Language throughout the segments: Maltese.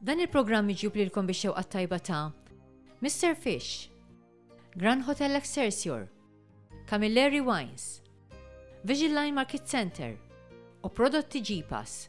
Dan il-programm miġjub lilkom bix-xewqa t-tajba ta' Mister Fish, Grand Hotel Excelsior, Camilleri Wines, Vision Line Market Centre u Prodotti G-Pass.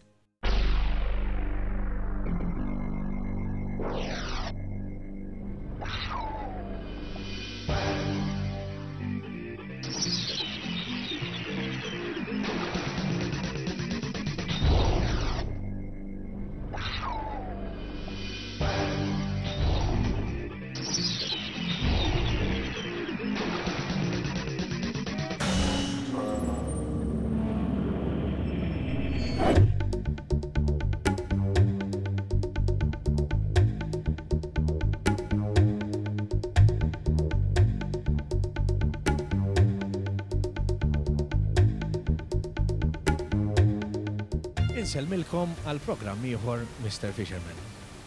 Insellmilkom għal programm ieħor Mister Fisherman.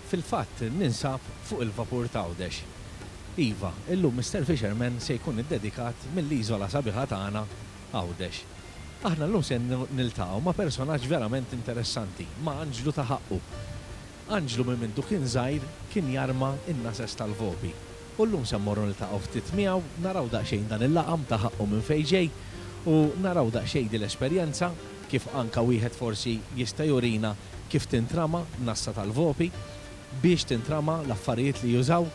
Fil-fatt ninsab fuq il-vapur t'Għawdex. Iva, illum Mister Fisherman se jkun iddedikat mill-iżola sabiħa tagħna Għawdex. Aħna llum se niltaqgħu ma' personaġġ verament interessanti, ma' Anġlu ta' ħaqqu. Anġlu minn mindu kien żgħir kien jarma n-nases tal-vopi. U llum se mmorru niltaqgħu ftit miegħu, naraw daqsxejn dan il-laqam ta' ħaqqu minn fejn ġej u naraw daqsxejn din l-esperjenza, kif anka wieħed forsi jista' jurina kif tintrama nassa tal-vopi, biex tintrama, l-affarijiet li jużaw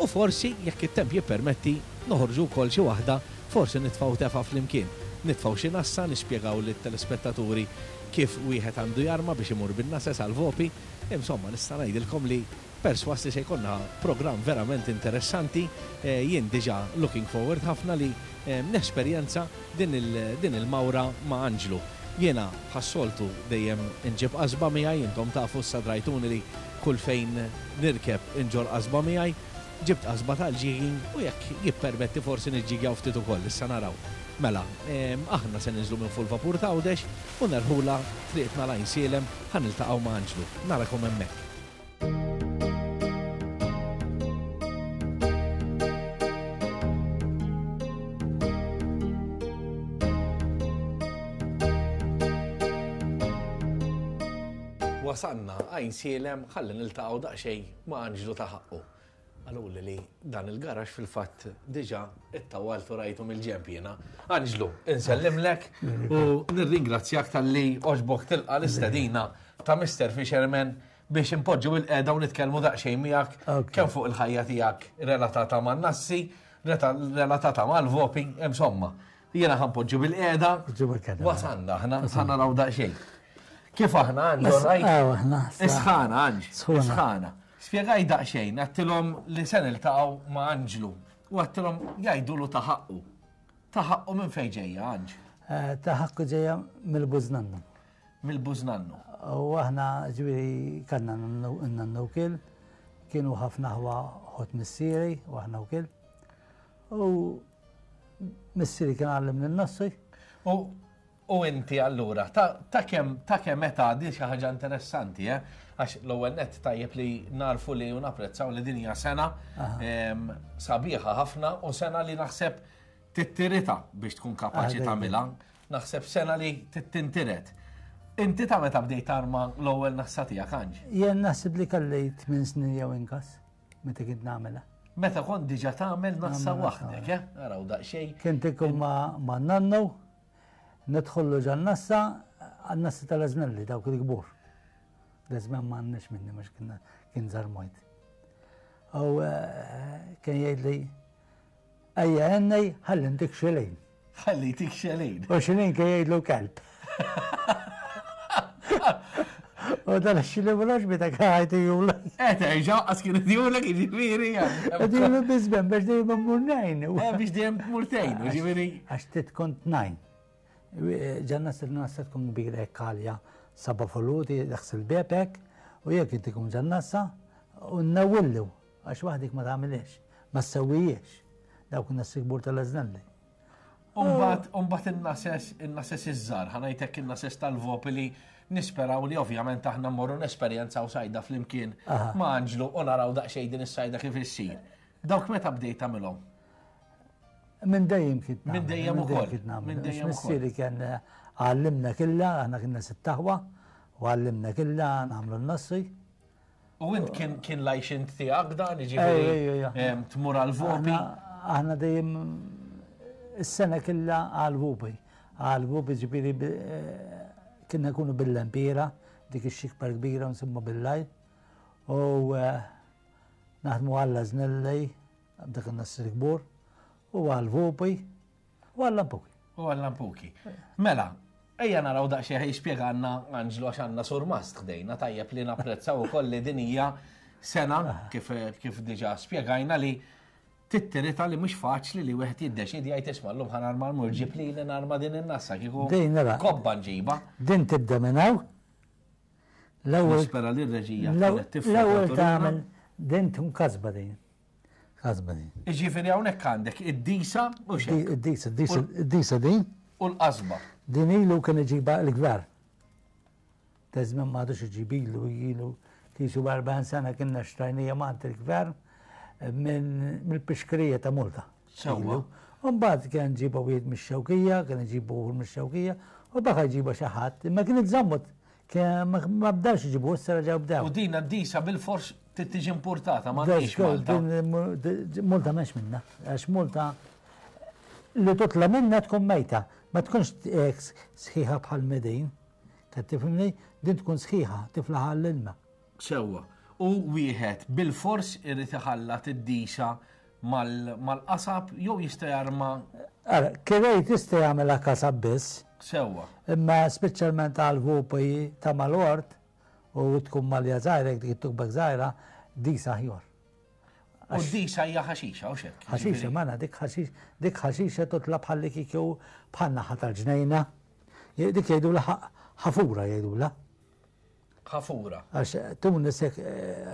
u forsi, jekk it-temp jippermetti, noħorġu wkoll xi waħda, forsi nitfgħu tefgħa flimkien. Nitfgħu xi nassa, nispjegaw lit-telespettaturi kif wieħed għandu jarma biex imur bin-nases għall-vopi. Insomma, nista' ngħidilkom li persważ li se jkollna programm verament interessanti. Jien diġà looking forward ħafna li nesperjenza din din il-mawra ma' Anġlu. Jiena bħas-soltu dejjem inġib qasba miegħi, intom tafu issa drajtuni li kull fejn nirkeb inġorr qasba miegħi. Ġibt qasba tal-jigging u jekk jippermetti forsi niġġigjaw ftit ukoll, issa naraw. Mela, aħna se ninżlu minn fuq il-vapur t'Għawdex u nerħulha triqtna l-Għajnsielem ħa niltaqgħu ma' Anġlu. Narakom hemmhekk. Wasalna Għajnsielem ħalli niltaqgħu daqsxejn ma' Anġlu ta' ħaqqu. Qaluli li dan il-garax fil-fatt diġà ittawalt u rajtu mill-ġenb jiena. Anġlu, insellimlek u nirringrazzjak talli għoġbok tilqa' l-istedina ta' Mister Fisherman biex inpoġġu bil-qegħda u nitkellmu daqsxejn miegħek kemm fuq il-ħajja tiegħek relatata man-nassi, relatata mal-vopi, insomma. Jiena ħa npoġġu bil-qiegħda. Wasalna aħna, ħa naraw daqsxejn. Kif aħna Anġ, right? Isħana Anġ, isħana. Spjegaj daqsxejn, għattilhom li se niltaqgħu ma' Anġlu u għattilhom jgħidulu ta' ħaqqu. Ta' ħaqqu minn fejn ġejja Anġ? Eh, ta' ħaqqu ġejja mill-bużnannu. Mill-bużnannu. U aħna ġifieri kellna nannu wkiel, kienu ħafna ħwa ħot missieri u aħna wkiel. U missieri kien għallimni n-nossi. U U inti allura, ta' kemm ta' kemm età din xi ħaġa interessanti, eh? Għax l-ewwel nett tajjeb li narfu li u napprezzaw li din hija sena sabiħa ħafna u sena li naħseb tittirita biex tkun kapaċi tagħmilha. Naħseb sena li tittintiret. Inti ta' meta bdejt tarma l-ewwel nassa tiegħek Anġ? Jien naħseb li kelli 8 snin jew inqas meta kont nagħmilha. Meta kont diġà tagħmel nassa waħdek, eh? Araw daqsxejn. Kien ikun ma' nannu Nidħollu ġan-nassa, għan-nassa tal-Ażnelli, dawk il-kbur. L-Ażmen ma għandniex minni mhux kien żarmojt. U eh, kien jgħidli, ejja ennej, ħalli ntik xelejn. Ħalli tik xelejn. U xelejn kien jgħidlu kelb. U dan xili mulax bita kħajti jula. Eh, terġa, għas kien jula kien ġifiri. Għed jula bizben, biex dejjem murnajn. Eh, biex dejjem murtejn, ġifiri. Għax tit kont najn. Ġanna s-nassa tkun kbira kalja, saba foluti, daħs il-bebek, u jek inti tkun ġannassa, u nawillu, għax waħdik ma tagħmilx, ma sewwijiex. Dawk n-nassi kbur tal-aznalli. Umbat in-nases, in-nases iż-żar, ħanajtek in-nases tal-vopi li nisperaw li ovvjament aħna mmorru nesperjenzaw sajda flimkien ma' Anġlu u naraw daqsxejn din is-sajda kif issir. Dawk meta bdejt tagħmilhom? Minn dejjem kien Minn dejjem ukoll. Minn dejjem Missieri kien eh, għallimna killa, aħna kienna sittaħwa, u għallimna killa nagħmlu n-nassi. U int kien kien l-għajxin tiegħek dan, jiġifieri tmur għal-vopi? Aħna dejjem is-sena killa għal-vopi. Għal-vopi ġifieri eh, kienna nkunu bil-lempiera, dik ix-xikbar kbira nsemmu bil-lajl. U eh, naħdmu għalla żnellej, dak in-nas il-kbur, u għal-vopi, U għall-lampuki. U għall-lampuki. Mela, ejja naraw daqsxejn jispjegana Anġlu għax għandna surmast ħdejna tajjeb li napprezzaw ukoll li din hija sena kif, kif diġà spjegajna li tittirita li mhux faċli li wieħed jiddeċidi jgħid isma' llum ħa narma l-mur ġib li li narma din in-nassa kieku kobba nġiba. Din tibda minn hawn. L-ewwel. Nispera li r-reġija. L-ewwel tagħmel din tkun kasba din. Kasba din. Iġifieri hawnhekk għandek id-disa u xejn. Id-disa, id-disa din. U l-qasba. Din ilu kien iġiba l-gvern. Ta' żmien ma għadux iġib ilu ilu kisu 40 sena kienna xtrajnija mant il-gvern mill-pixkrija ta' Multa. Sewwa. Mbagħad kien ġiba wieħed mix-xewkija, kien iġibu mix-xewkija, u baqa' jġiba xi ħadd, imma kien iżammut Ma bdawx iġibu, issa reġgħu bdew. U din għad-disa bil-fors trid tiġi importata, ma għandix Malta. Multa m'hemmx minna, għax Multa li tutla minna tkun mejta, ma tkunx sħiħa bħal medin. Qed tifhimni? Din tkun sħiħa, tiflaħ għall-ilma. Sewwa. U wieħed bil-fors irid iħallat id-disa mal-qasab jew jista' jarma. Ara, kirej tista' jagħmilha qasab biss. Sewwa. Imma speċjalment għal vupi ta' mal-ort u tkun malja żgħira, dik it-tukbek żgħira, disa aħjar. U disa hija ħaxixa, u xek. Ħaxixa, mana, dik ħaxixa, dik ħaxixa totla bħal li kieku bħal naħa tal-ġnejna. Dik jgħidula ħafura jgħidula. Ħafura. Għax Tunis hekk,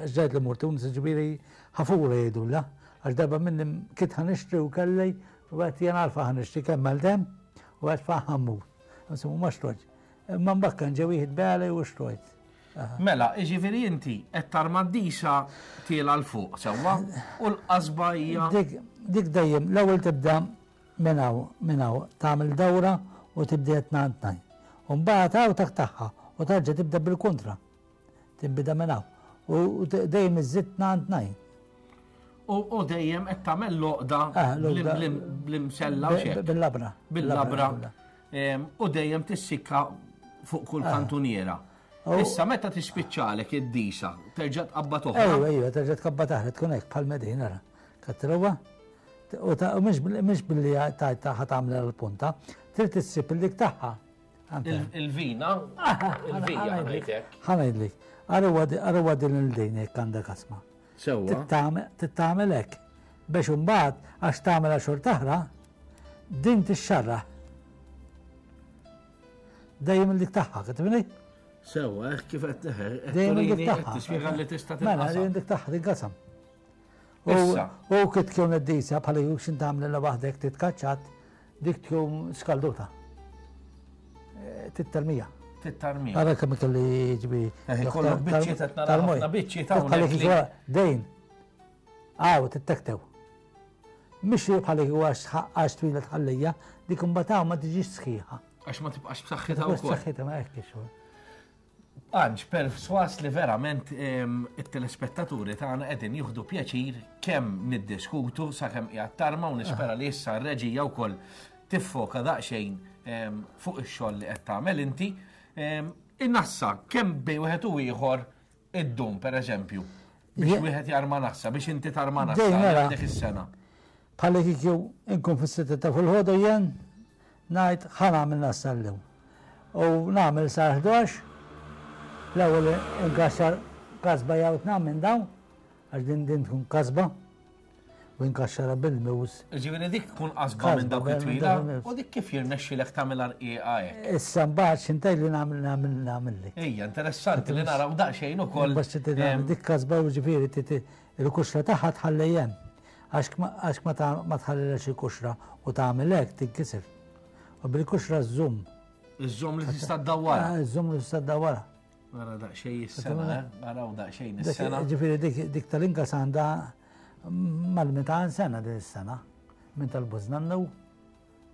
għax ġajt li mur Tunis ġifieri ħafura jgħidulha. Għax darba minni kit ħa nixtri u kelli u għedt jien għalfa ħa nixtri kemm għal demm u għedt fa ħa mmur. Insomma ma xtrojtx. Imma mbagħad kien ġie wieħed begħli u xtrojt. Mela, jiġifieri inti qed tarma d-disa tiela' 'l fuq sewwa u l-qasba hija. Dik dejjem l-ewwel tibda Minn hawn, minn hawn, tagħmel dawra u tibda tnajn tnajn. U mbagħad hawn taqtagħha u tarġa' tibda bil-kontra. Tinbida minn hawn. U dejjem iżżid tnajn tnajn. U dejjem qed tagħmel l-għoqda ah, bl-imsella u xejn. Bil-labra. Bil-labra. U dejjem tissikka fuq kull ah. kantuniera. Issa meta tispiċċalek id-disa, terġa' tqabbad oħra. Ejwa, ejwa, terġa' tqabbad oħra, tkun hekk bħal medina. Katruwa. U mhux billi tajt tagħha tagħmel l-punta, trid issib il-dik tagħha. Il-vina, il-vija ngħidlek. Ħa ngħidlek. Arawa din il-din jekk għandek asma. Sewwa. Tittamel hekk biex imbagħad għax tagħmel xorta oħra din tixxarraħ. Dejjem il-dik tagħha, kitibni? Sewwa, kif qed Dejjem il-dik tagħha. Tispjega li tista' Mela, dejjem dik tagħha tinqasam. Issa. U kif tkun id-disa bħala jekk x'int tagħmel waħdek titkaċċat, dik tkun skalduta. Eh, tittarmija. Tittarmija. Ara kemm kelli ġbi. Eh, kollok biċċiet qed nara ħafna biċċiet hawnhekk. Dejn. Aw, tittektew. Mhix bħala kieku għax twila tħallija, dik imbagħad ma tiġix sħiħa. Għax ma tibqax b'saħħitha wkoll. B'saħħitha ma hekk ix Anġ, perswas li verament it-telespettaturi tagħna qegħdin jieħdu pjaċir kemm niddiskutu sakemm qiegħed tarma u nispera li issa r-reġija wkoll tiffoka daqsxejn fuq ix-xogħol li qed tagħmel inti. Innassa kemm bejn wieħed u ieħor iddum pereżempju biex wieħed jarma nassa, biex inti tarma nassa dik is-sena. Bħalli kieku inkun fis-sitta ta' filgħodu jien Ngħid ħa nagħmel nassa llum. U nagħmel sal-ħdax, l-ewwel inkaxxar kasba jew tnam minn dawn, għax din din tkun kasba, u inkaxxarha bil-mus. Ġifieri dik tkun qasba minn dawk it-twila, u dik kif jirnexxilek tagħmilha rqiqa hekk? Issa mbagħad x'intej li nagħmel nagħmel nagħmilli. Ejja, interessanti li naraw daqsxejn ukoll. Dik kasba u ġifieri il-kuxra tagħha tħalli hemm. Għax ma tħallilha xi kuxra u tagħmel hekk tinkiser. U bil-kuxra żżomm. Iżżomm li tista' ddawwarha. Ah, iżżomm li tista' ddawwarha. Nara daqsxejn is-sena, eh? naraw daqsxejn is-sena. Ġifieri dik tal-inkas għandha mal-200 sena din is-sena. Minn tal-bużnannu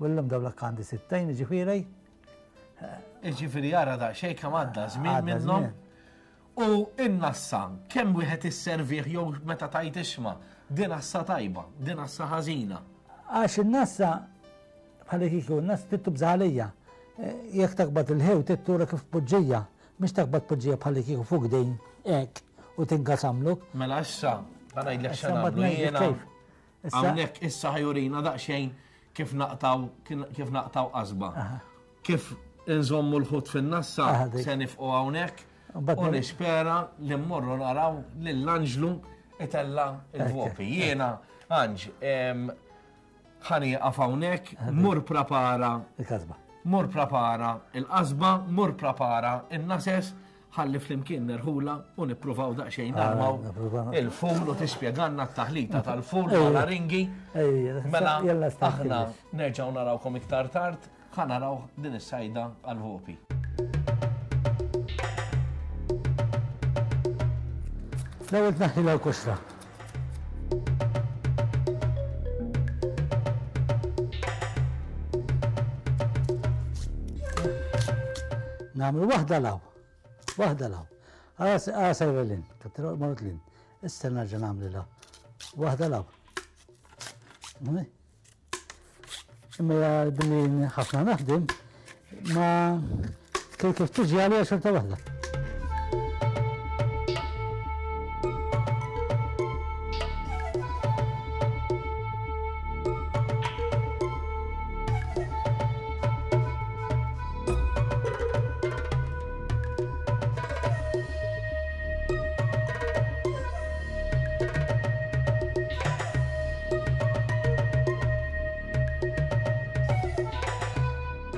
u llum dawlak għandi sittejn, ġifieri. Ġifieri jara daqsxejn kemm għadda żmien minnhom. U in-nassa, kemm wieħed isservih jew meta tgħid isma' din nassa tajba, din nassa ħażina. Għax in-nassa bħal kieku n-nassa trid tibża' għalija. Eh, jekk taqbad il-ħew trid tura kif tpoġġija, mhix taqbad tpoġġija bħal kieku fuq dejn hekk u tinkasamluk. Mela issa, ħa ngħidlek x'għamlu jiena. Hawnhekk issa ħajurina daqsxejn kif naqtaw kif naqtaw qasba. Kif inżommu l-ħut fin-nassa se nifqu hawnhekk u nispera li mmorru naraw lil Anġlu itella il-vopi. Jiena, Anġ, ħa nieqaf hawnhekk, mur prapara. Il-qasba. Mur prapara il-qasba, mur prapara in-nases, ħalli flimkien nerħula u nippruvaw daqsxejn ah, narmaw il-ful u tispjegalna t-taħlita tal-ful u ringi. Mela, aħna nerġgħu narawkom iktar tard, ħa naraw din is-sajda għal-vopi. L-ewwel tneħħi l-orkestra. Nagħmlu waħda law. Waħda law. Ara sejra lin, mort lin. Issa nerġa' nagħmlu law. Waħda law. Imma billi ħafna naħdem, ma kif tiġi għalija xorta waħda.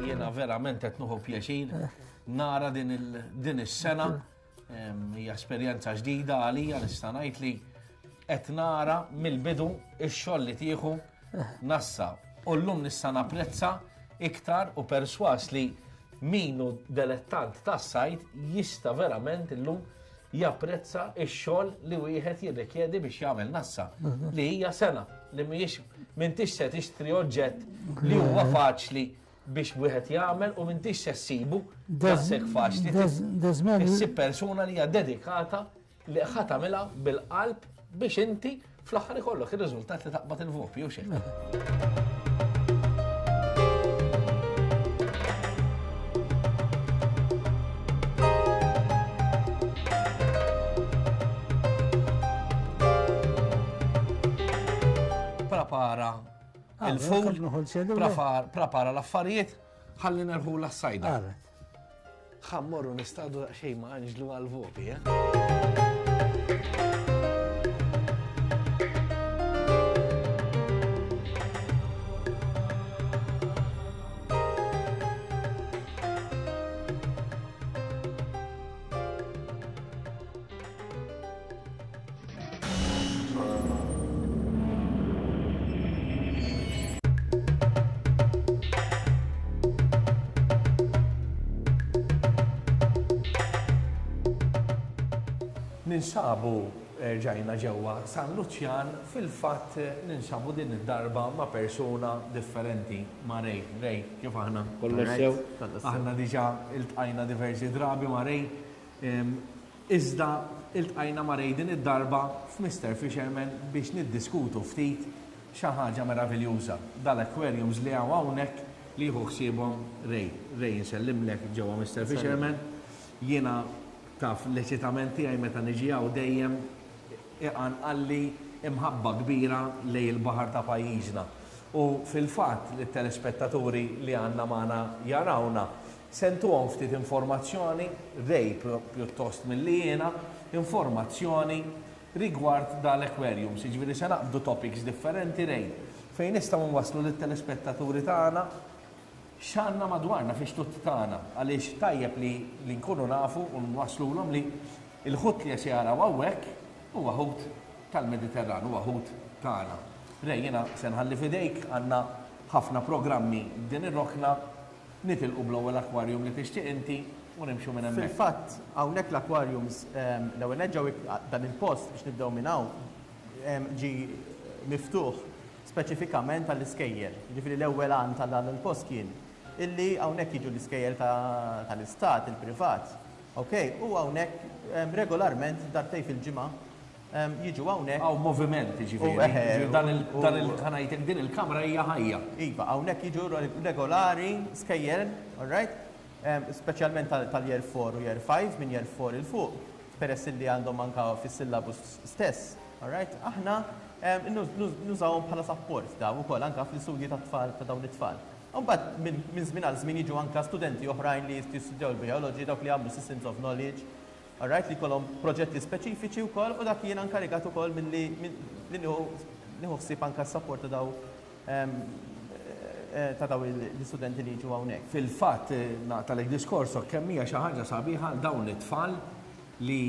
Jiena verament qed nieħu pjaċir nara din is-sena hija esperjenza ġdida għalija nista' ngħid li qed nara mill-bidu ix-xogħol li tieħu nassa. U llum nista' napprezza iktar u perswas li min hu delettant tas-sajd jista' verament illum japprezza x-xogħol li wieħed jirrikjedi biex jagħmel nassa li hija sena li mhijiex m'intix se tixtri oġġett li huwa faċli biex wieħed jagħmel u m'intix se ssibu daqshekk faċli. Issib persuna li hija dedikata li ħa tagħmilha bil-qalb biex inti fl-aħħar ikollok ir-riżultat li taqbad il-vopi u xejn. Prepara ah, il-ful, prepara l-affarijiet, ħalli nerħu l-sajda. Ħa mmorru nistadu daqsxejn ma' Anġlu għal-vopi, eh? Ninsabu ġajna ġewwa San Luċjan, fil-fatt ninsabu din id-darba ma' persuna differenti, ma' Ray. Ray, kif aħna? Kollox sew? Aħna diġà iltqajna diversi drabi ma' Ray. Iżda iltqajna ma' Ray din id-darba f'Mister Fisherman biex niddiskutu ftit xi ħaġa meraviljuża, dal-aquariums li hawn hawnhekk li jieħu ħsiebhom Ray. Ray insellimlek ġewwa Mister Fisherman. Jiena taf l-eċitament tiegħi meta niġi hawn dejjem iqanqalli imħabba kbira lejn il-baħar ta' pajjiżna. U fil-fatt lit-telespettaturi li għandna magħna jarawna, Se ntuhom ftit informazzjoni, Ray pjuttost milli jiena, informazzjoni rigward dal-aquariums. Jiġifieri se naqbdu topics differenti, Ray, fejn nistgħu nwasslu lit-telespettaturi tagħna x'għandna madwarna fix-xtut tagħna. Għaliex tajjeb li li nkunu nafu u nwasslulhom li l-ħut li se jaraw hawnhekk huwa ħut tal-Mediterran, huwa ħut tagħna. Ray, jiena se nħalli f'idejk, għandna ħafna programmi din ir-rokna. Nitilqu bl-ewwel aquarium li tixtieq inti u nimxu minn hemmhekk. Fil-fatt, hawnhekk l-aquariums, l-ewwel nett ġew dan il-post biex nibdew minn hawn, ġie miftuħ speċifikament għall-iskejjel. Jiġifieri l-ewwel għan ta' dan il-post kien illi hawnhekk jiġu l-iskejjel tal-istat, il-privat. Ok, u hawnhekk regolarment darbtejn fil-ġimgħa jiġu hawnhekk. Hawn moviment jiġifieri. Dan il, dan il, ħa ngħidlek din il-kamra hija ħajja. Iva, hawnhekk jiġu regolari skejjel, all right? Speċjalment tal-year 4 u year 5, minn year 4 'il fuq, peress illi għandhom anka fis-syllabus stess, all right? Aħna nużawhom bħala sapport dawn ukoll anka fl-istudji tat-tfal ta' dawn it-tfal. U mbagħad minn żmien għal żmien jiġu anka studenti oħrajn li jistudjaw il-biology, dawk li jagħmlu systems of knowledge, all right, li jkollhom proġetti speċifiċi wkoll u dak jiena inkarigat ukoll milli li nieħu ħsieb anka s-sapport ta' daw ta' daw l-istudenti li jiġu hawnhekk. Fil-fatt, naqtagħlek diskorsok, kemm hija xi ħaġa sabiħa għal dawn it-tfal li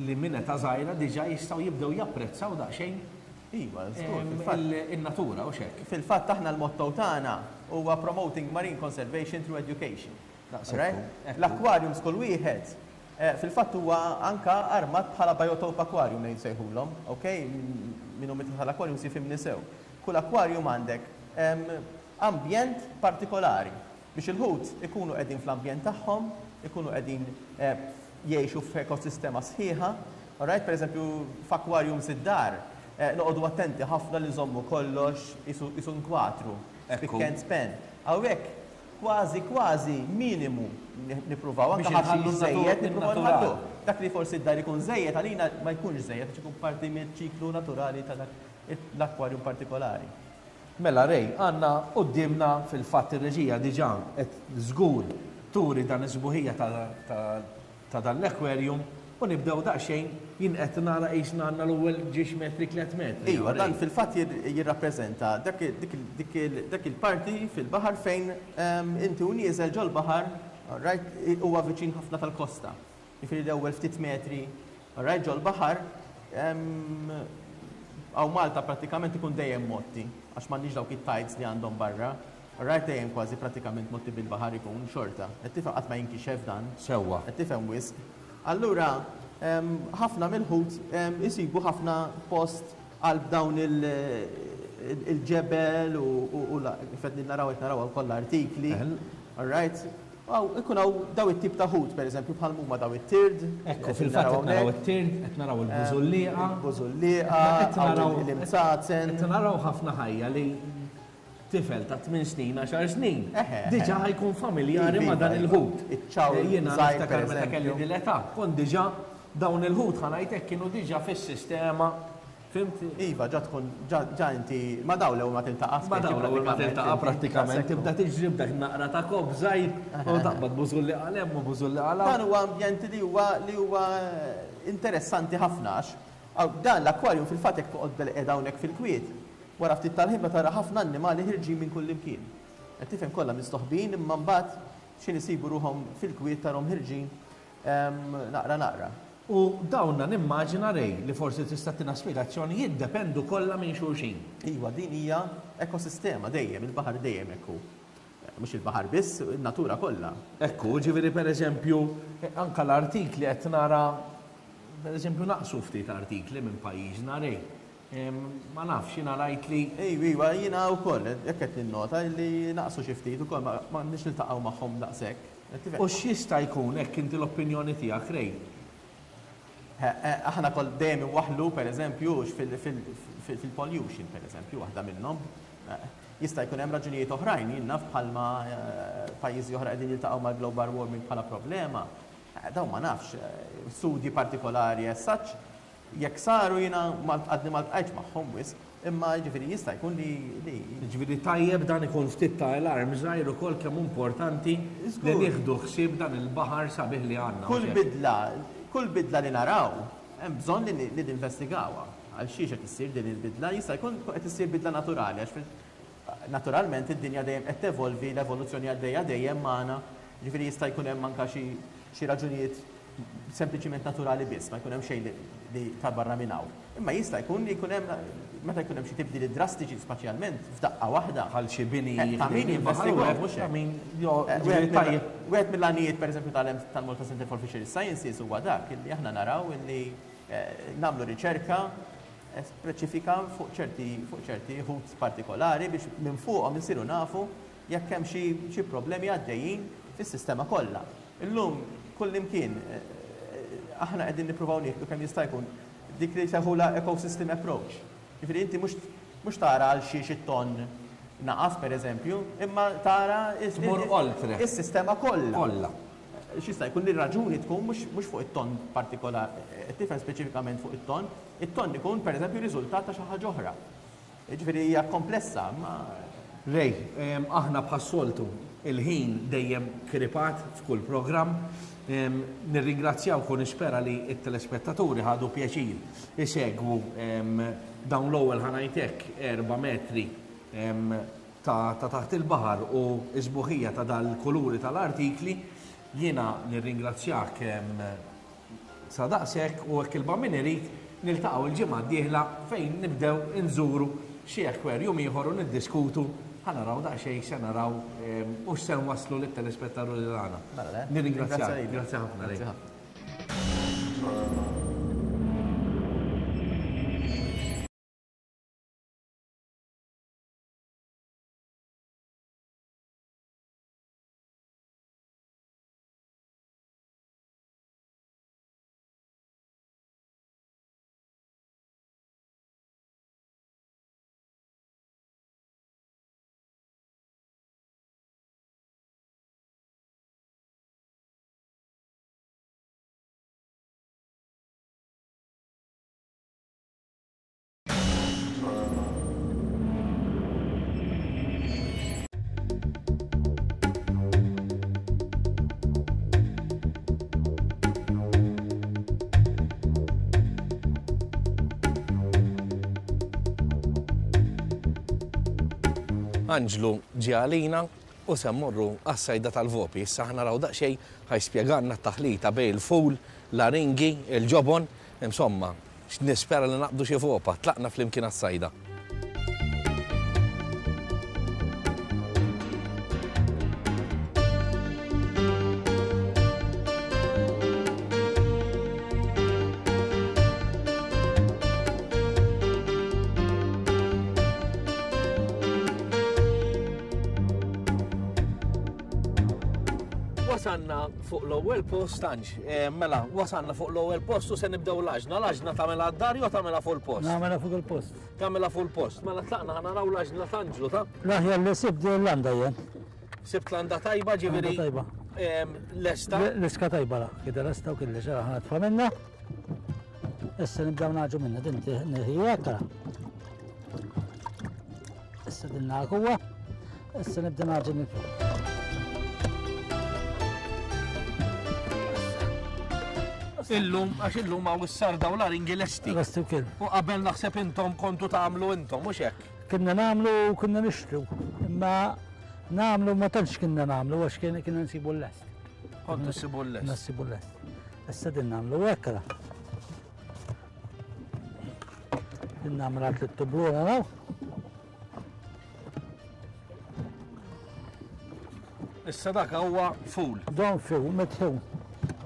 li minn età żgħira diġà jistgħu jibdew japprezzaw daqsxejn Iva, żgur, fil-fatt. In-natura, hux hekk? Fil-fatt aħna l-motto tagħna huwa Promoting Marine Conservation Through Education. Daqshekk hu. L-aquariums kull wieħed fil-fatt huwa anka armat bħala biotope aquarium li nsejħulhom, ok? Min hu midħla tal-aquariums jifhimni sew. Kull aquarium għandek ambjent partikolari biex il-ħut ikunu qegħdin fl-ambjent tagħhom, ikunu qegħdin jgħixu f'ekosistema sħiħa. Alright, per eżempju, f'aquariums id-dar, noqogħdu attenti ħafna li nżommu kollox qisu nkwatru, spick and span. Hawnhekk kważi kważi minimu nippruvaw, anke ħaxix żejjed nippruvaw nħalluh. Dak li forsi d-dar ikun żejjed għalina ma jkunx żejjed għax ikun parti miċ-ċiklu naturali ta' dak l-aquarium partikolari. Mela Ray, għandna quddiemna fil-fatt ir-reġija diġà qed żgur turi dan is-sbuħija ta' dan l-aquarium u nibdew daqsxejn jien qed nara qisna għandna l-ewwel ġiex metri tlett metri. Iva, dan fil-fatt jirrappreżenta dak il-parti fil-baħar fejn inti u nieżel ġol-baħar, alright, huwa viċin ħafna tal-kosta. Jiġifieri l-ewwel ftit metri, alright, ġol-baħar, hawn Malta prattikament ikun dejjem mgħotti, għax m'għandniex dawk it-tides li għandhom barra. Alright, dejjem kważi prattikament mgħotti bil-baħar ikun, xorta. Qed tifhem qatt ma jinkixef dan. Sewwa. Qed tifhem wisq. Allura, ħafna mill-ħut isibu ħafna post qalb dawn il-ġebel u kif qed naraw qed naraw hawn kollha artikli. Alright? Hawn ikun hawn daw it-tip ta' ħut, pereżempju, bħal m'huma daw it-tird. Ekku, fil-fatt qed naraw it-tird, qed naraw il-bużullieqa. Il-bużullieqa, hawn l-imsazen. Qed naraw ħafna ħajja li tifel ta' 8 snin, 10 snin, diġà ħa jkun familjari ma' dan il-ħut. Jiena niftakar meta kelli din l-età, kont diġà dawn il-ħut ħa ngħid hekk kienu diġà fis-sistema Fhimt? Iva, ġa tkun, ġa, ġa inti, ma' dawn l-ewwel ma tiltaqa' Ma' dawn l-ewwel ma tiltaqa' prattikament, tibda tiġri b'dak naqra ta' kopp żgħir u taqbad bużulliqa 'l hemm u bużulliqa 'l hawn. Dan huwa ambjent li huwa, li huwa interessanti ħafna għax dan l-aquarium fil-fatt jekk toqgħod bilqiegħda hawnhekk fil-kwiet, wara ftit tal-ħin tara ħafna annimali ħirġin minn kullimkien. Qed tifhem kollha mistoħbijin imma mbagħad x'ħin isibu ruħhom fil-kwiet tarhom ħirġin naqra naqra. U dawna nimmaġina Ray li forsi tista' ttina spjegazzjoni jiddependu kollha minn xulxin. Iva, din hija ekosistema dejjem, il-baħar dejjem hekk hu. Mhux il-baħar biss, in-natura kollha. Hekk hu, ġifieri pereżempju anke l-artikli qed nara pereżempju naqsu ftit artikli minn pajjiżna Ray. Ma nafx, jiena rajt li. Iva, iva, jiena wkoll hekk qed ninnota li naqsu xi ftit ukoll ma għandniex niltaqgħu magħhom daqshekk. U x'jista' jkun hekk inti l-opinjoni tiegħek, Ray? Aħna kol dejjem inwaħħlu, per eżempju, fil-pollution, per eżempju, waħda minnhom. Jista' jkun hemm raġunijiet oħrajn, jien naf bħalma pajjiżi oħra qegħdin jiltaqgħu mal-global warming bħala problema. Dawn ma nafx, studji partikolari as such, Jekk saru jiena għadni ma ltqajtx magħhom wisq, imma jiġifieri jista' jkun li li. Jiġifieri tajjeb dan ikun ftit ta' alarm żgħir ukoll kemm hu importanti li nieħdu ħsieb dan il-baħar sabiħ li għandna. Kull bidla, kull bidla li naraw hemm bżonn li li ninvestigawha. Għal xiex qed issir din il-bidla? Jista' jkun qed issir bidla naturali għax naturalment id-dinja dejjem qed tevolvi, l-evoluzzjoni għaddejja dejjem magħna, jiġifieri jista' jkun hemm anke xi xi raġunijiet sempliċiment naturali biss, ma jkun hemm xejn li ta' barra minn hawn. Imma jista' jkun li jkun hemm meta jkun hemm xi tibdiliet drastiċi spaċjalment f'daqqa waħda. Bħal xi bini ta' min jinvestigahom mhux hekk. Wieħed mill-għanijiet pereżempju tal-Malta Centre for Fisheries Sciences huwa dak illi aħna naraw illi nagħmlu riċerka speċifika fuq ċerti fuq ċerti ħut partikolari biex minn fuqhom insiru nafu jekk hemm xi problemi għaddejjin fis-sistema kollha. Illum kullimkien aħna qegħdin nippruvaw nieħdu kemm jista' jkun dik li jsejħulha ecosystem approach. Jiġifieri inti mhux mhux tara għal xiex it-tonn naqas pereżempju, imma tara Tmur oltre. is-sistema kollha. Kollha. X'jista' jkun li r-raġuni tkun mhux mhux fuq it-tonn partikolari, qed tifhem speċifikament fuq it-tonn, it-tonn ikun pereżempju riżultat ta' xi ħaġa oħra. Jiġifieri hija komplessa, imma. Ray, aħna bħas-soltu il-ħin dejjem kripat f'kull programm. Nirringrazzjawk u nispera li t-telespettaturi ħadu pjaċir isegwu dawn l-ewwel ħa ngħid hekk erba' metri ta' taħt il-baħar u s-sbuħija ta' dal-kuluri tal-artikli. Jiena nirringrazzjak Sa daqshekk u hekk il-Bambin irid, niltaqgħu l-ġimgħa d-dieħla fejn nibdew inżuru xi aquarium ieħor u niddiskutu, ħa naraw daqsxejn x'se naraw u x'se nwasslu lit-telespettaruri tagħna. Nirringrazzjak. Grazzi ħafna Ray. Anġlu ġie għalina u se mmorru għas-sajda tal-vopi. Issa ħa naraw daqsxejn ħa jispjegalna t-taħlita bejn il-ful, l-aringi, il-ġobon, insomma, Nispera li naqbdu xi vopa. Tlaqna flimkien għas-sajda. Wasanna fuq l-ewwel post Anġ. Eh, mela, wasanna fuq l-ewwel post u se nibdew l-għaġna. L-għaġna tagħmilha d-dar jew tagħmilha fuq il-post? Nagħmilha fuq il-post. Tagħmilha fuq il-post. Mela tlaqna ħa naraw l-għaġna t'Anġlu ta'. L-aħjar li sibt din l-landa jien. Sibt landa tajba ġifieri. Tajba. Lesta. L-iska tajba la, kida lesta u kelli ġara ħana tfa' minna. Issa nibdew naġu minna din nirħija tara. Issa din naħuwa. Issa nibda naġu minn fuq. Illum, għax illum għaw is-sarda u l-aringi lesti. Lesti u kien. U qabel naħseb intom kontu tagħmlu intom, mhux hekk? Kienna nagħmlu u kienna nixtru. Imma nagħmlu ma tantx kienna nagħmlu għax kienna nsibu l-lest. Kontu nsibu l-lest. Nsibu l-lest. Issa din nagħmlu hekk. Din nagħmlu għat l-tubluna naraw. Issa dak huwa ful. Don ful, mitħu.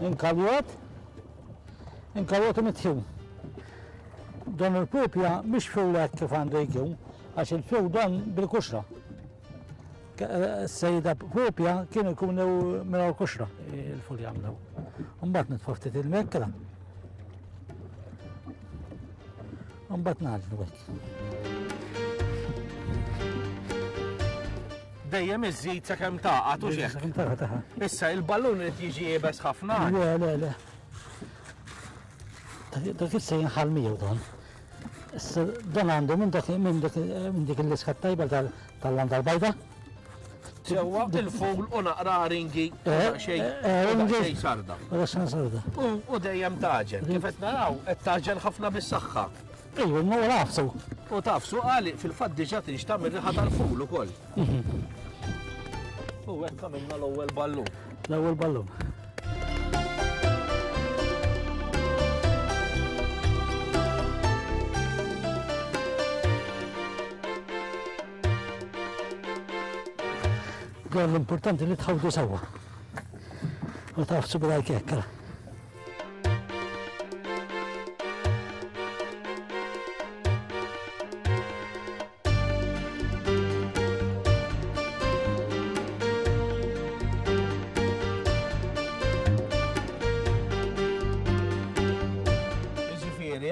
Inkaljot, inkaljot u mitħu. Don il-pupja mhix ful hekk kif għandu jkun, għax il-ful don bil-kuxra. Eh, sejda pupja kienu jkunu minn kuxra il-ful jagħmlu. Mbagħad nitfa' ftit il-mekra. Mbagħad nagħġnu hekk. Dejjem iżżid sakemm tagħqad u xejn. Sakemm tagħqad taħa. Issa il-ballun irid jiġi iebes ħafna. Le, le, le. Dak issa jinħal miegħu dan. Issa dan għandu minn dak minn dak minn dik il-liska tajba tal-landa l-bajda. Sewwa il-ful u naqra ringi u eh, daqsxejn eh, eh, sarda. U daqsxejn sarda. U dejjem taġen. Kif qed naraw, qed taġen ħafna bis-saħħa. Ejju, ma u nafsu. U tafsu għali fil-fatt diġà tinxtam ir-riħa tal-ful ukoll. Mhm. U hekk għamilna l-ewwel ballun. L-ewwel ballun. Dan l-importanti li tħawdu sewwa. U tafsu b'dajk hekk.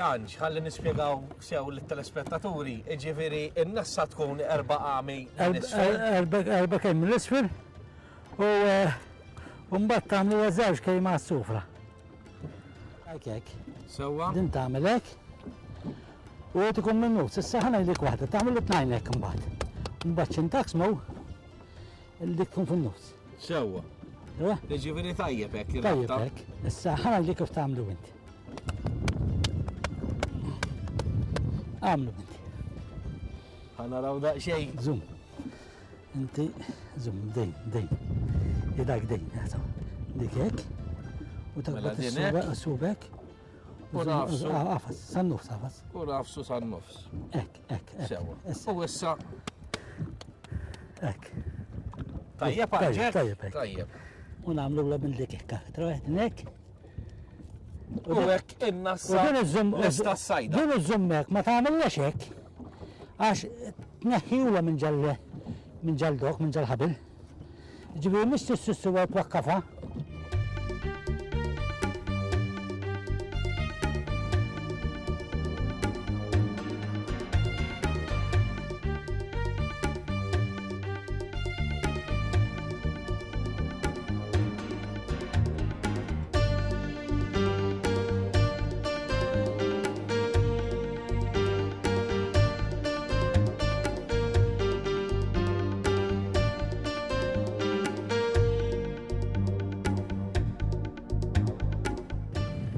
Anġ, ħalli nispjegaw sew lit-telespettaturi, jiġifieri n-nassa tkun erba' għami minn isfel. Erba' kejl minn isfel u eh, mbagħad tagħmlu żewġ kejl ma' sufra. Hekk hekk. Sewwa. Din tagħmel hekk. U qed ikun minnu, s'issa ħa ngħidlek waħda, tagħmel tnajn hekk imbagħad. Imbagħad x'intaksmu dik tkun fin-nofs. Sewwa. Jiġifieri tajjeb hekk. Tajjeb hekk. Issa ħa ngħidlek kif tagħmlu inti. Għamlu inti. Ħa naraw daqsxejn. Zoom. Inti, zoom, dejn, dejn. Idak dejn, dik hekk. U mela taqbad is-subek. U nafsu. Għafas, san-nofs, għafas. U nafsu san-nofs. Hekk, hekk, hekk. Sewa. U issa. Hekk. Tajjeb, għalġek. Tajjeb, tajjeb. U nagħmlu la minn dik hekk. Traħet nek. U hekk in-nassa. U din iżżomm. Lesta s-sajda. Din iżżomm hekk, ma tagħmilx hekk. Għax tneħħiwla minn ġal minn ġal dok, minn ġal ħabil. Ġifieri mhux tissussuha twakkafa.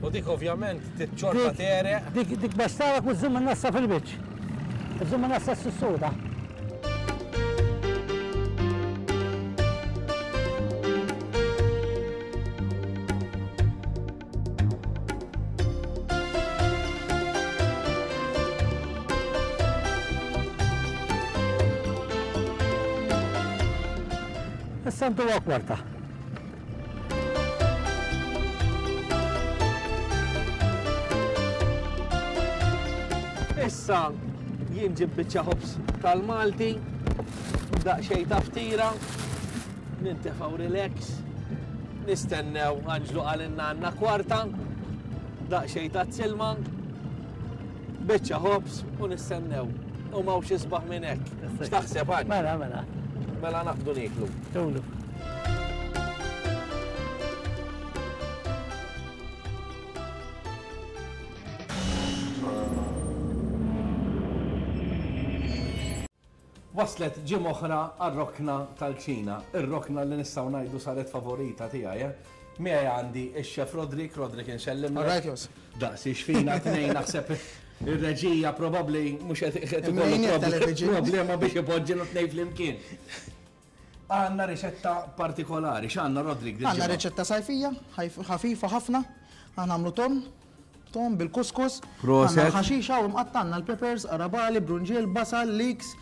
U dik ovvjament titċorta tere. Dik dik bastarak u żżomm nassa fil-wiċċ. Żomm nassa s-suda. Issa ntuha kwarta. Issa jien ġib biċċa ħobż tal-Malti, daqsxejn ta' ftira, nintefgħu relax, nistennew Anġlu qalilna għandna kwarta, daqsxejn ta' silma, biċċa ħobż u nistennew. U m'hawnx isbaħ minn hekk. X'taħseb Anġ? Mela, mela. Mela naqbdu nieklu. Tulu. Waslet ġimgħa oħra għar-rokna tal-kċina, ir-rokna li nistgħu ngħidu saret favorita tiegħi. Eh? Miegħi għandi x-chef Rodrik, Rodrik insellimlek. All right, Jos. Daqsi xfina tnejn naħseb ir-reġija probabbli mhux qed ikollu problema biex ipoġġi tnejn flimkien. Għandna riċetta partikolari, x'għandna Rodrik? Għandna riċetta sajfija, ħafifa ħafna, aħna nagħmlu ton, ton bil-kuskus, Proset. għandna l-ħaxixa u mqatta' għandna l-peppers, arabali, brunġiel, basal, leeks,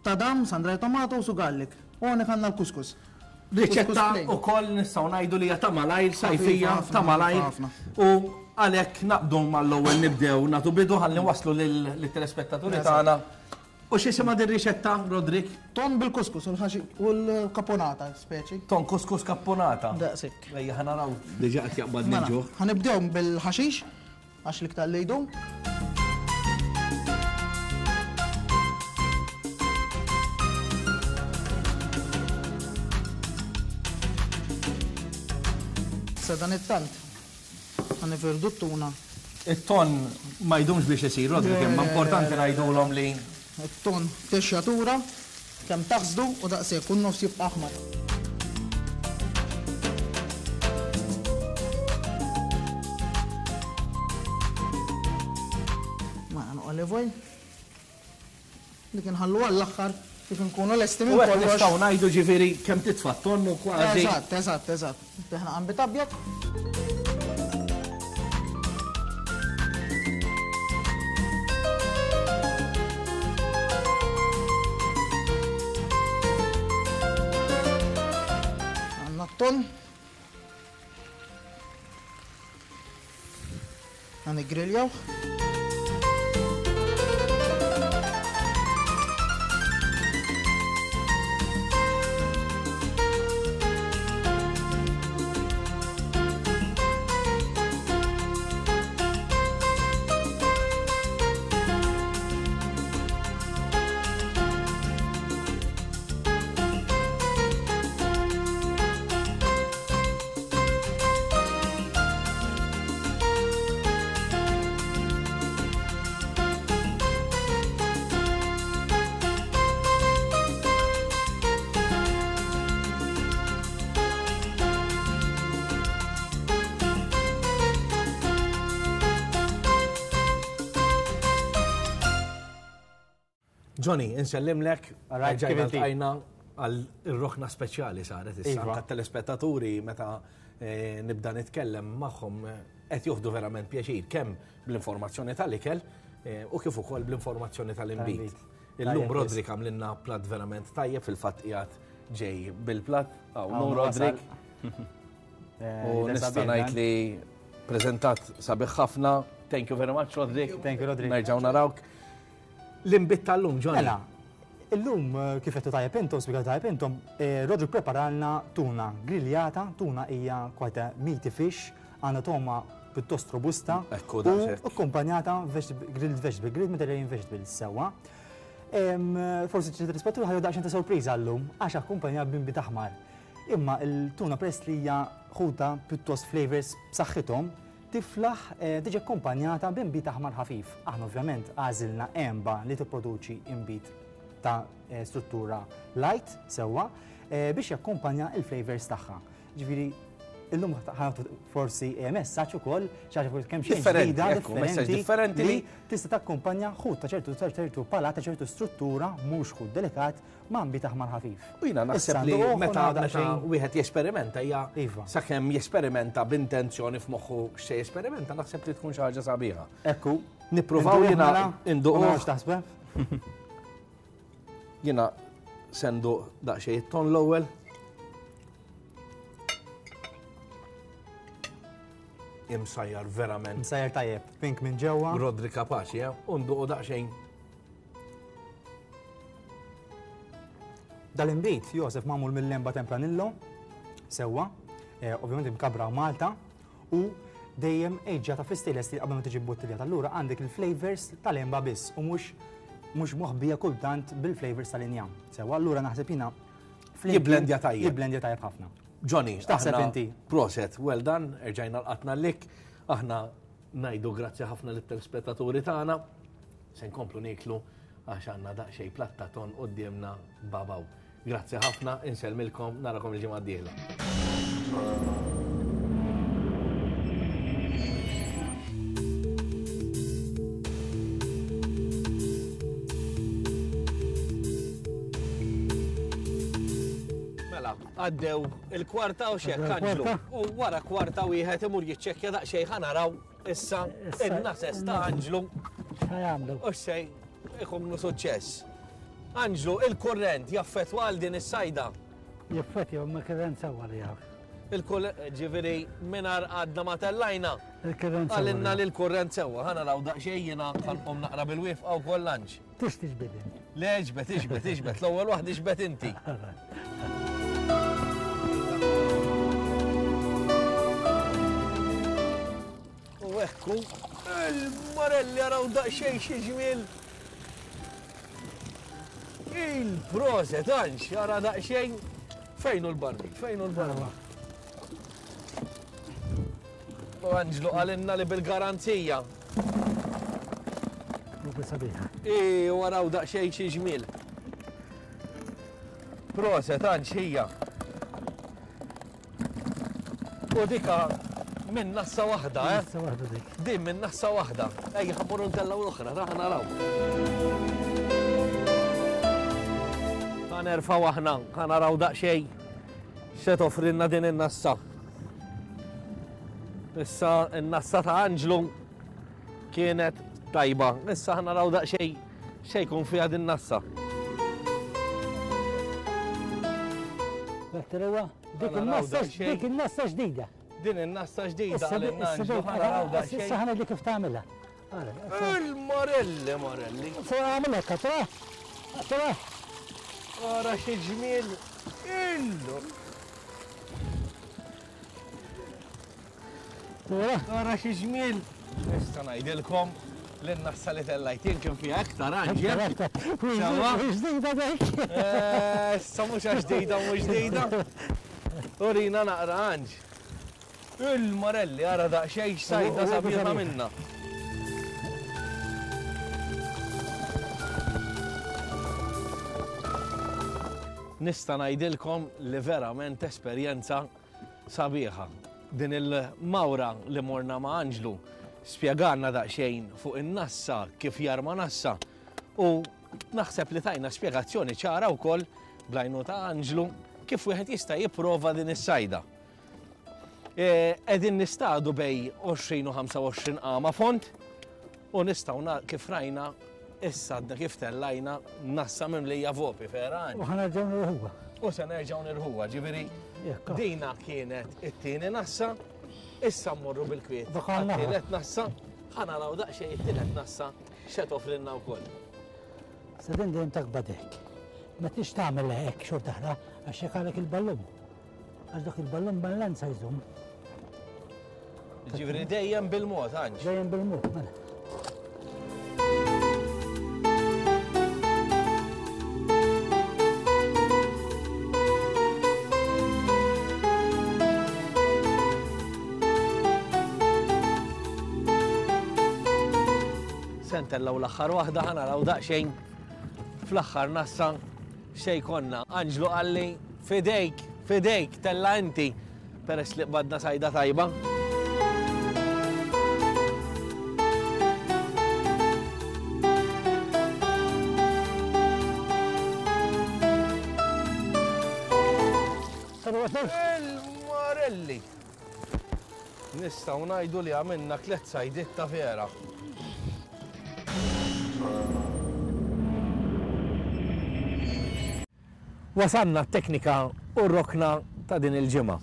tadam, sandra tomatoes u garlic. U hawnhekk għandna l-kuskus. Riċetta ukoll nistgħu ngħidu li hija ta' malajr, sajfija, ta' malajr. U għalhekk naqbdu mal-ewwel nibdew nagħtu bidu ħalli waslu lit-telespettaturi tagħna. U x'isimha din riċetta, Rodrik? Ton bil-kuskus u l-kaponata, speċi. Ton kuskus kaponata. Daqsik. Ejja ħa naraw. Diġà qed jaqbadni mela, l-ġuħ. Ħanibdew bil-ħaxix, għax l-iktar li jdum. Sa dan it-tant, ħanifirdu t-tuna. It-ton ma jdumx biex isir, Rodrik, imma importanti ngħidulhom li. It-ton texxatura, kemm taħsdu u daqshekk u n-nofs jibqa' aħmar. Mela olive oil. Dik inħallu għall-aħħar kif inkunu lesti minn kollox. Nistgħu ngħidu ġifieri kemm titfa' tonnu kważi. Eżatt, eżatt, eżatt. Teħna qambit abjad. Għandna t-ton. Għan igriljaw. Johnny, insellimlek, ġajna ltqajna għal ir-rokna speċjali saret issa iva. anke telespettaturi meta eh, nibda nitkellem magħhom eh, qed joħdu verament pjaċir kemm bl-informazzjoni tal-ikel eh, u kif ukoll bl-informazzjoni tal-inbid. Illum Rodrik għamlilna plat verament tajjeb fil-fatt qiegħed ġej bil-plat. Hawn Rodrik. U nista' ngħid li preżentat sabiħ ħafna. Thank you very much, Rodrik. Thank you, Rodrik. Nerġgħu narawk. L-inbid tal-lum, Johnny. Mela, illum eh, kif qed tajjeb intom, spjegat tajjeb intom, eh, Rodrik preparalna tuna griljata, tuna hija quite a meaty fish, għandha toma pjuttost robusta Ekku, u daqshekk. akkompanjata grilled vegetable, grilled Mediterranean vegetables sewwa. Forsi ċerti telespettaturi ħadu daqsxejn ta' sorpriża llum għax akkumpanjat b'inbid aħmar. Imma il-tuna peress li hija ħuta pjuttost flavors b'saħħithom, tiflaħ eh, tiġi akkumpanjata b'inbid aħmar ħafif. Aħna ovvjament għażilna għenba li tipproduċi inbid ta' eh, struttura light sewwa eh, biex jakkumpanja il-flavors tagħha. Ġifieri illum ħanatu forsi messaġġ ukoll xi ħaġa forsi kemm xejn ġdida differenti, differenti li tista' takkumpanja ħut ta' ċertu ċertu palat ta' ċertu struttura mhux ħut delikat ma' nbid aħmar ħafif. U jiena naħseb li meta meta wieħed jesperimenta hija iva. sakemm jesperimenta b'intenzjoni f'moħħu x'se jesperimenta naħseb li tkun xi ħaġa sabiħa. Ekku. Nippruvaw jiena mela? induqu. X'taħseb? Jiena sendu daqsxejn it-ton l-ewwel. Imsajjar verament. Imsajjar tajjeb, pink minn ġewwa. Rodri kapaċi, eh? Unduqu daqsxejn. Dal-inbid, Josef magħmul mill-lemba Tempranillo, sewwa, eh, ovvjament imkabra Malta, u dejjem eġġata fl-stainless steel qabel ma tiġi bottiljata. Allura għandek il-flavors tal-emba biss u mhux mhux moħbija kultant bil-flavors tal-injam. Sewwa, allura naħseb jiena Jibblendja tajjeb. Jibblendja tajjeb ħafna. Johnny, x'taħseb inti? Proset, well done, erġajna l-qatna lik. Aħna ngħidu grazzi ħafna lit-telespettaturi tagħna. Se nkomplu nieklu għax għandna daqsxejn platta ton quddiemna babaw. Grazzi ħafna, insellmilkom, narakom il-ġimgħa d-dieħla. Mela, għaddew il-kwarta u xek, Anġlu. U wara kwarta wieħed imur jiċċekkja daqsxejn ħa naraw Issa, in-nases ta' Anġlu. X'ħajamlu? U xej, ikunu suċċess. Anġlu, il-kurrent jaffetwa għal din is-sajda. Jaffetwa, ma kurrent sewwa li jaf. Il-kurrent, ġifieri, mingħajr għadna ma tellajna. Il-kurrent sewwa. Għalinna li l-kurrent sewwa. Ħa naraw daqsxejn jiena ħanqom naqra bil-wifqa wkoll Anġ. Tix tiġbed int. Le, iġbed, iġbed, iġbed. L-ewwel waħda iġbed inti. U ekku, il-marelli għaraw daqsxejn xi ġmiel. Il-proset, għanx, għara daqsxejn. Fejnu l-barbi, fejnu l-barbi. U Anġlu qalilna li bil-garanzija. Rubi sabiħa. I waraw daqsxejn xi ġmiel. Proset, Anġ, hija. U dika minn nassa waħda, eh? Nassa waħda dik. Din minn nassa waħda. Ejja, ħammurru ntellaw l-oħra, ta' naraw. Ħa nerfgħu aħna, ħa naraw daqsxejn x'se toffrilna din in-nassa. Issa n-nassa ta' Anġlu kienet tajba. Issa ħa naraw daqsxejn x'se jkun fiha din nassa. Dik in-nassa dik in-nassa ġdida. Din in-nassa ġdida għal Anġlu ħa naraw daqsxejn. Issa ħa ngħidlek kif tagħmilha. Il-Morelli, Morelli. Se għamilha tra. Tra. Ara xi ġmiel. Illu. Ara xi ġmiel. Nista' ngħidilkom li n-nassa li tellajt jien kien fiha iktar anġel. Ġdida dik. Eh, issa mhux għax ġdida mhux ġdida. Urina naqra anġ. Il-Morelli ara daqsxejn x'sajda sabiħa minna. Nista' ngħidilkom li verament esperjenza sabiħa. Din il-mawra li morna ma' Anġlu spjegalna daqsxejn fuq in-nassa, kif jarma nassa u. Naħseb li tajna spjegazzjoni ċara wkoll bl-għajnuna ta' Anġlu kif wieħed jista' jipprova din is-sajda. E, qegħdin nistadu bej 20 u 25 qama font u nistgħu kif rajna issa għadna kif tellajna nassa mimlija vopi vera. U ħanerġgħu nirħuha. U se nerġgħu nirħuha, ġifieri dina kienet it-tieni nassa, issa mmorru bil-kwiet. Tielet nassa, ħanaraw daqsxejn it-tielet nassa x'se toffrilna wkoll. Sa din dejjem taqbad hekk. Ma tix tagħmel hekk xorta oħra għax jekk għalek il-ballun. Għax dak il-ballun ballanza jżomm. Ġifieri dejjem bil-mod, Anġ. Dejjem bil-mod, mela. Se ntellgħu l-aħħar waħda ħa naraw daqsxejn fl-aħħar nassa xejn konna. Anġlu qalli fidejk, fidejk, tella inti peress li qbadna sajda tajba. Il-Marelli! Nistgħu ngħidu li għamilna tlett sajdiet ta' vera. Wasalna t-teknika u r-rokna ta' din il-ġimgħa.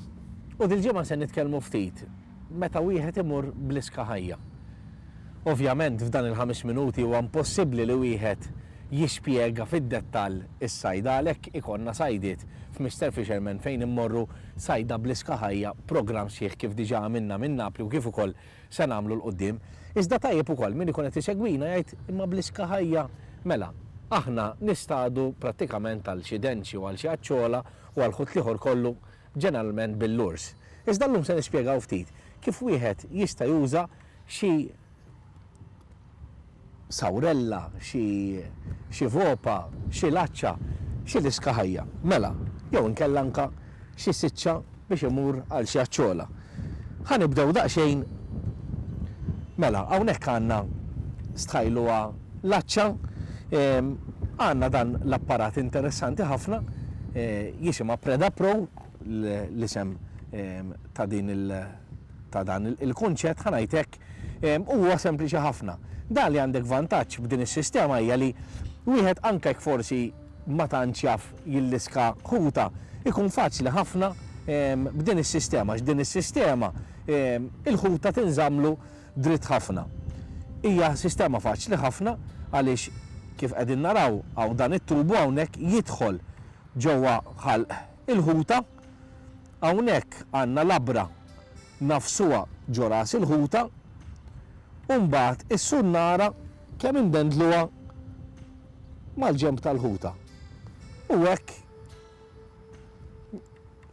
U dil-ġimgħa se nitkellmu ftit meta wieħed imur bl-iska ħajja. Ovvjament f'dan il-ħames minuti huwa impossibbli li wieħed jispjega fid-dettall is-sajda għalhekk ikollna sajdiet f'Mister Fisherman fejn immorru sajda bl-iska ħajja programm sħiħ kif diġà għamilna minn Napli u kif ukoll se nagħmlu 'l quddiem. Iżda tajjeb ukoll min ikun qed isegwina jgħid imma bl-iska ħajja mela aħna nistadu prattikament għal xi denċi u għal xi aċċola u għall-ħut l-ieħor kollu ġeneralment bil-lures. Iżda llum se nispjegaw ftit kif wieħed jista' juża xi sawrella, xi xi vopa, xi laċċa, xi liska ħajja. Mela, jew inkella anka xi siċċa biex imur għal xi aċċola. Ħa nibdew daqsxejn Mela, hawnhekk għandna stħajluha laċċa, għandna dan l-apparat interessanti ħafna, jisimha Preda Pro, l-isem ta' din il ta' dan il-kunċett, ħa ngħid hekk, Huwa sempliċi ħafna. Dan li għandek vantaġġ b'din is-sistema hija li wieħed anke jekk forsi ma tantx jaf jilliska ħuta, ikun faċli ħafna b'din is-sistema għax din is-sistema il-ħuta tinżammlu dritt ħafna. Hija sistema faċli ħafna għaliex kif qegħdin naraw hawn dan it-tubu hawnhekk jidħol ġewwa ħalq il-ħuta. Hawnhekk għandna labra nagħfsuha ġo ras il-ħuta u mbagħad is-sunnara kemm indendluha mal-ġenb tal-ħuta. U hekk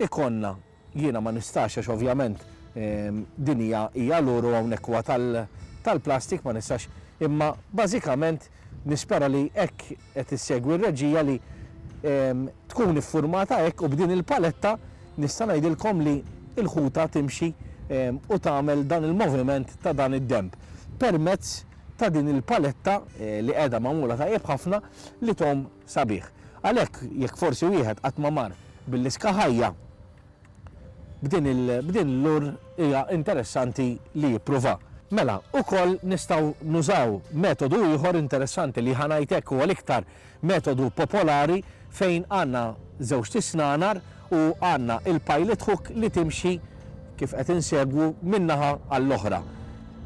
ikollna, jiena ma nistax għax ovvjament din hija hija lur u hawnhekk huwa tal-plastik ma nistax imma bażikament nispera li hekk qed issegwi r-reġija li tkun iffurmata hekk u b'din il-paletta nista' ngħidilkom li l-ħuta timxi u tagħmel dan il-moviment ta' dan id-denb permezz ta' din il-paletta li qiegħda magħmula tajjeb ħafna li tgħum sabiħ. Għalhekk jekk forsi wieħed qatt ma mar bil-liska ħajja b'din il b'din l-lure hija interessanti li jippruva. Mela, ukoll nistgħu nużaw metodu ieħor interessanti li ħa ngħid hekk huwa l-iktar metodu popolari fejn għandna żewġt isnanar u għandna il-pilot hook li timxi kif qed insegwu minn naħa għall-oħra.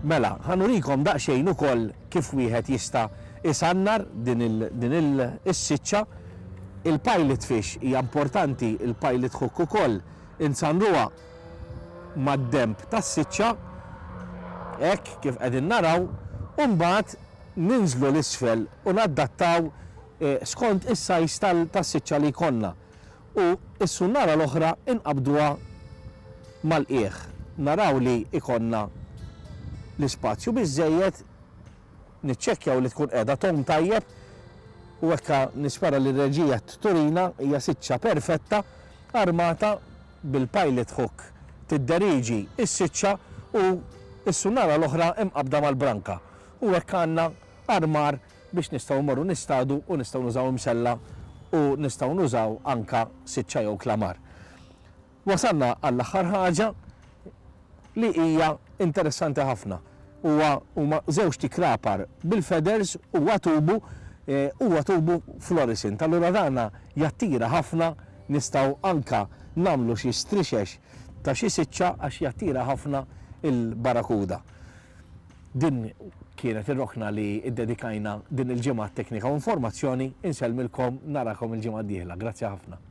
Mela, ħa nurikom daqsxejn ukoll kif wieħed jista' isannar din il din il is-siċċa. Il-pilot fish hija importanti, il-pilot hook ukoll insannruha mad-denb tas-siċċa, hekk kif qegħdin naraw, u mbagħad ninżlu 'l isfel u naddattaw skont is-size tas-siċċa li jkollna. U s-sunnara l-oħra inqabbduha mal-qiegħ. Naraw li jkollna l-ispazju biżżejjed. Niċċekkjaw li tkun qiegħda tgħum tajjeb u hekk nispera li r-reġija turina hija siċċa perfetta armata bil-pilot hook tidderiġi s-siċċa u s-sunnara l-oħra imqabbda mal-branka u hekk għandna armar biex nistgħu mmorru nistadu u nistgħu nużaw imsella u nistgħu nużaw anka siċċa jew klamar. Wasalna għall-aħħar ħaġa li hija interessanti ħafna. Huwa huma żewġt ikrapar bil-feathers huwa tubu huwa tubu fluorescent. Allura dana jattira ħafna nistgħu anka nagħmlu xi strixex ta' xi siċċa għax jattira ħafna il-barakuda. Din kienet ir-rokna li ddedikajna din il-ġimgħa għat-teknika u informazzjoni. Insellmilkom, narakom il-ġimgħa d-dieħla. Grazzi ħafna.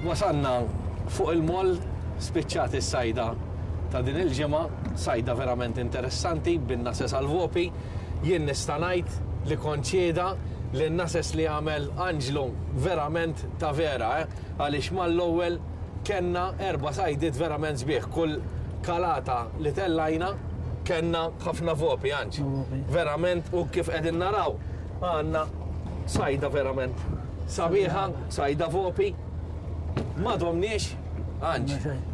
Wasalna fuq il-moll, spiċċat is-sajda ta' din il-ġimgħa, sajda verament interessanti bin-nases għall-vopi. Jien nista' ngħid li kont xhieda li n-nases li għamel Anġlu verament ta' vera, eh, għaliex mal-ewwel kellna erba' sajdiet verament sbieħ. Kull kalata li tellajna kellna ħafna vopi, Anġ. Verament u kif qegħdin naraw għandna sajda verament sabiħa, sajda vopi. Ma domniex, Anġ.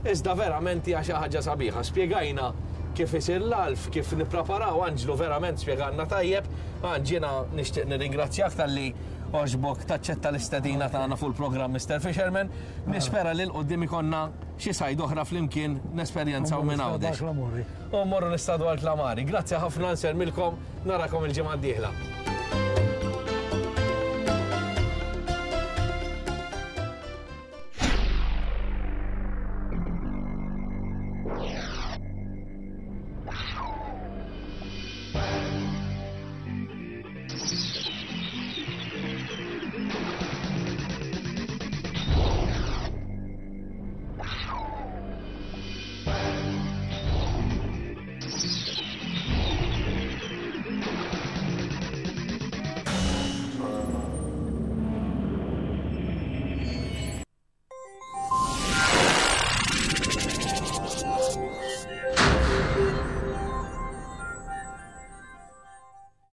Iżda verament hija xi ħaġa sabiħa. Spjegajna kif isir l-għalf, kif nippreparaw, Anġlu verament spjegalna tajjeb. Anġ, jiena nixtieq nirringrazzjak talli għoġbok taċċetta l-istedina tagħna fuq il-programm Mister Fisherman. Nispera li 'l quddiem ikollna xi sajd oħra flimkien nesperjenzaw minn Għawdex. U mmorru nistadu għal Klamari. Grazzi ħafna, nsellmilkom, narakom il-ġimgħa d-dieħla.